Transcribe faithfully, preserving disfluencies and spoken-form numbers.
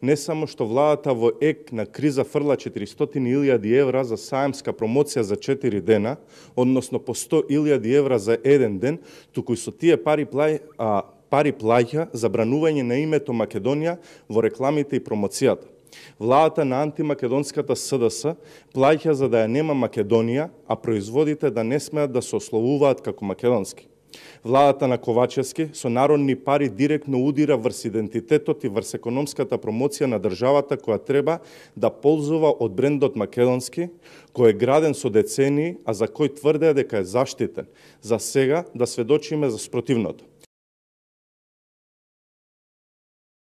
не само што владата во ек на криза фрла четиристотини илјади евра за саемска промоција за четири дена, односно по сто илјади евра за еден ден, туку и со тие пари плај, а, пари плаќа забранување на името Македонија во рекламите и промоцијата. Владата на антимакедонската СДС плаќа за да ја нема Македонија, а производите да не смеат да се ословуваат како македонски. Владата на Ковачевски со народни пари директно удира врз идентитетот и врз економската промоција на државата која треба да ползува од брендот македонски, кој е граден со децении, а за кој тврде дека е заштитен. За сега да сведочиме за спротивното.